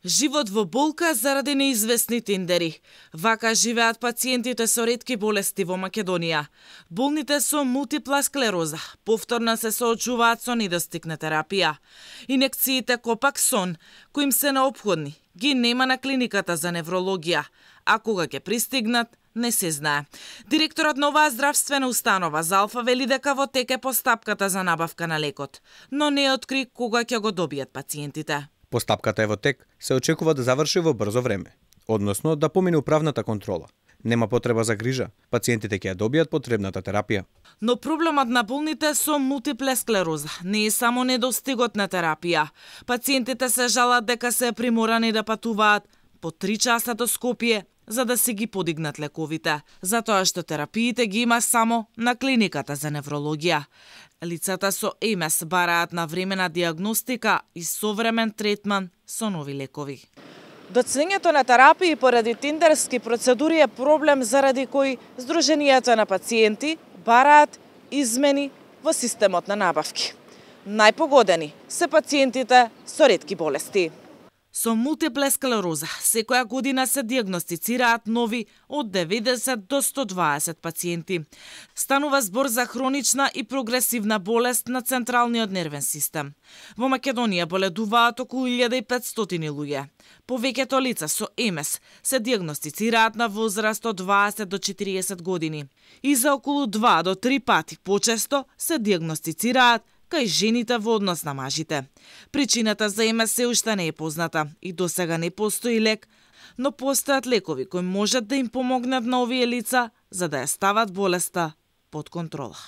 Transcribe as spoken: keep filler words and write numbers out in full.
Живот во болка заради неизвестни тендери. Вака живеат пациентите со ретки болести во Македонија. Болните со мултипла склероза повторно се соочуваат со недостиг на терапија. Инекциите Копаксон, кои им се неопходни, ги нема на клиниката за неврологија, а кога ќе пристигнат, не се знае. Директорот на оваа здравствена установа Залфа вели дека во тек е постапката за набавка на лекот, но не откри кога ќе го добијат пациентите. Постапката е во тек, се очекува да заврши во брзо време, односно да помине управната контрола. Нема потреба за грижа, пациентите ќе ја добијат потребната терапија. Но проблемот на болните со мултипле склероза не е само недостигот на терапија. Пациентите се жалат дека се приморани да патуваат по три часа до Скопје за да си ги подигнат лековите, затоа што терапиите ги има само на клиниката за неврологија. Лицата со Е М С бараат на времена диагностика и современ третман со нови лекови. Доцнењето на терапии поради тендерски процедури е проблем заради кој Сдруженијата на пациенти бараат измени во системот на набавки. Најпогодени се пациентите со ретки болести. Со мултипле склероза секоја година се диагностицираат нови од деветдесет до сто дваесет пациенти. Станува збор за хронична и прогресивна болест на централниот нервен систем. Во Македонија боледуваат околу илјада и петстотини луѓе. Повеќето лица со Е М С се диагностицираат на возраст од дваесет до четириесет години и за околу два до три пати почесто се диагностицираат кај жените во однос на мажите. Причината за Е М С се уште не е позната и досега не постои лек, но постојат лекови кои можат да им помогнат на овие лица за да ја стават болеста под контрола.